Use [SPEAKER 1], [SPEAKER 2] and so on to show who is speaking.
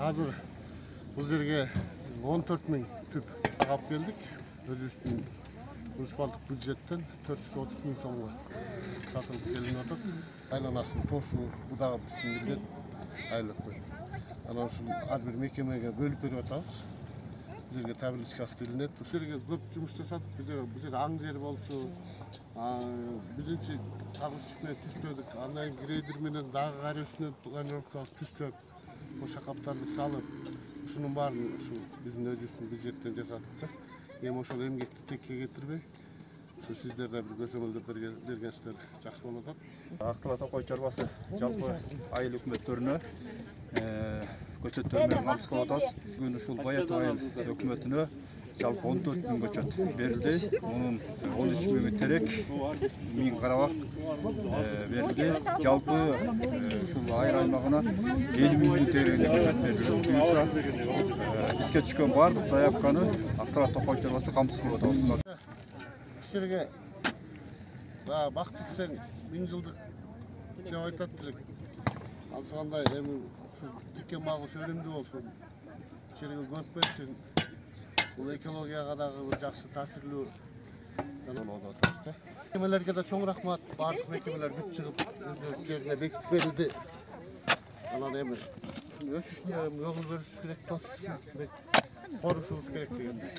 [SPEAKER 1] Азыр бул жерге 14 000 түп алып келдик. Өзүбүздүн муниципалдык бюджеттен 430 000 сомго сатылып келинип атат. Айланасын тосуу бул дагы биздин милдет айлыкты. Анан ушул ар бир мекемеге бөлүп берип атабыз. Бул жерге табличка астылынет. Ушул жерге көп жумуш жасадык. Бул жер аң жер болчу. Биринчи тагышчык менен түстөдүк. Андан кийин грейдер менен дагы кар үстүнө планировка түстөп, ошо каптарды салып, ушунун баарын ушу биздин өзүбүздүн бюджеттен жасадык да. Эми ошол эмгекти текке кетирбей, ушу сиздер да бир көзөмөлдөп бергенсиздер жакшы болот атат.
[SPEAKER 2] Ак Токой чарбасы жалпы айыл өкмөттөрүнө көчөттөр менен камсыз кылып атабыз. Бүгүн ушул Баят айыл өкмөтүнө жалпы 14 000 көчөт берилди. Мунун 13 000 терек, 1000 карабак берилди. Жалпы ушул айыл аймагына 50 000 тереңде көчөт берилди. Буюрса бизге түшкөн баардык заявканы Ак Токой чарбасы камсыз кылып атабыз.
[SPEAKER 1] Ушул жерге бак тиксең 1000 жылдык деп айтат элек. Андай эми ушул тиккен бак өнүмдүү болсун. Ушул жерге көрүп берсин. Бул экологияга дагы бир жакшы таасирлүү болот атабыз да. Мекемелерге да чоң рахмат. Бардык мекемелер бүт чыгып өз жерине бекитип берилди. Анан эми ушуну өсүшүнө жол көрүшүбүз керек, тосушубуз керек, корушубуз керек дегендей.